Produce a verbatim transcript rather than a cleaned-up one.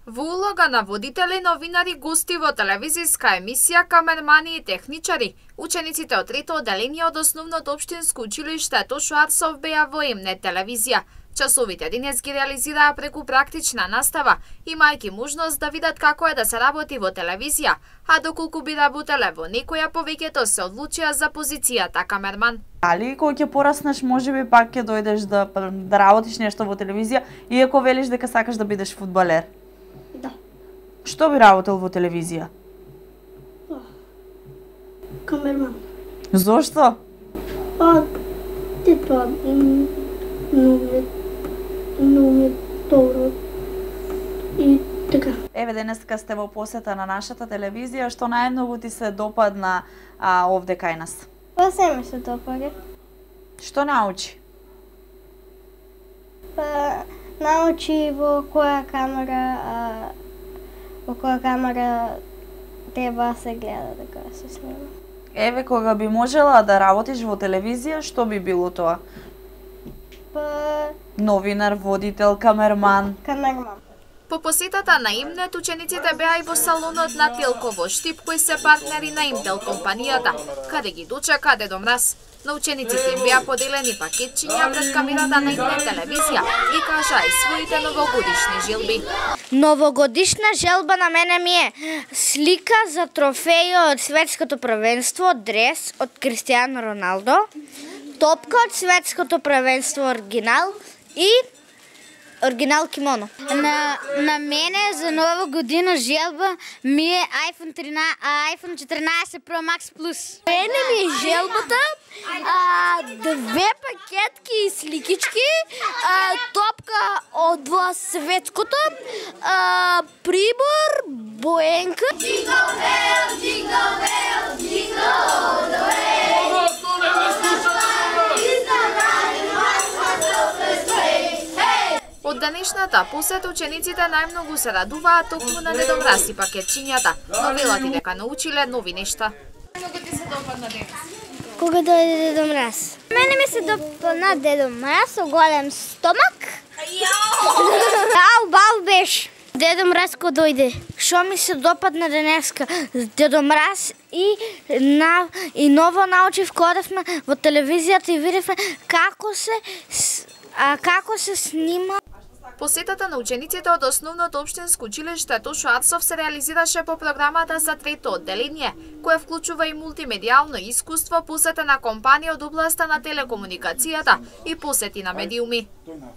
Во улога на водители, новинари, гости во телевизиска емисија, камермани и техничари, учениците од трето одделение од Основното општинско училиште Тошо Арсов беа во ЕМНЕТ телевизија. Часовите денес ги реализираа преку практична настава, имајќи можност да видат како е да се работи во телевизија, а доколку би работеле во некоја, повеќето се одлучија за позицијата камерман. Али кога ќе пораснеш, можеби пак ќе дојдеш да, да работиш нешто во телевизија, иако велиш дека сакаш да бидеш фудбалер? Да. Што би работел во телевизија? Камерман. Зошто? Па, типа, но ми но ми добро. И така. Еве денеска сте во посета на нашата телевизија, што најмногу ти се допадна а, овде кај нас? Па се ми се допаѓа. Што научи? Па научи во која камера а, во која камера треба се гледа дека се снима. Еве кога би можела да работиш во телевизија, што би било тоа? Па Новинар, водител, камерман. камерман. По посетата на ЕМНЕТ, учениците беа и во салонот на Телко во Штип, кои се партнери на Имтел компанијата, каде ги дочека Дедо Мраз. На учениците им беа поделени пакетчиња пред камерата на ЕМНЕТ телевизија и кажа и своите новогодишни желби. Новогодишна желба на мене ми е слика за трофеј од светското првенство, дрес од Кристијано Роналдо, топка од светското првенство оригинал и оригинал кимоно. На, на мене за нова година желба ми е iPhone тринаесет, iPhone четирнаесет Pro Max Plus. Мене ми е желбата а, две пакетки и сликички, а, топка од светското, а, прибор, боенка. Jingle bell, jingle bell, jingle all the way. Од денешната посета учениците најмногу се радуваат токму на Дедо Мраз и пакетчињата, но велат и дека научиле нови нешта. Многу ти се допадна денес? Кога дојде Дедо Мраз? Мене ми се допадна Дедо Мраз со голем стомак. Ау, бау беше. Дедо Мраз кога дојде. Што ми се допадна денеска? Дедо Мраз и на и ново научив кога одевме во телевизијата и видевме како се а, како се снима. Посетата на учениците од Основното општинско училиште Тошо Арсов се реализираше по програмата за трето одделение, која вклучува и мултимедијално искуство, посета на компанија од областа на телекомуникацијата и посети на медиуми.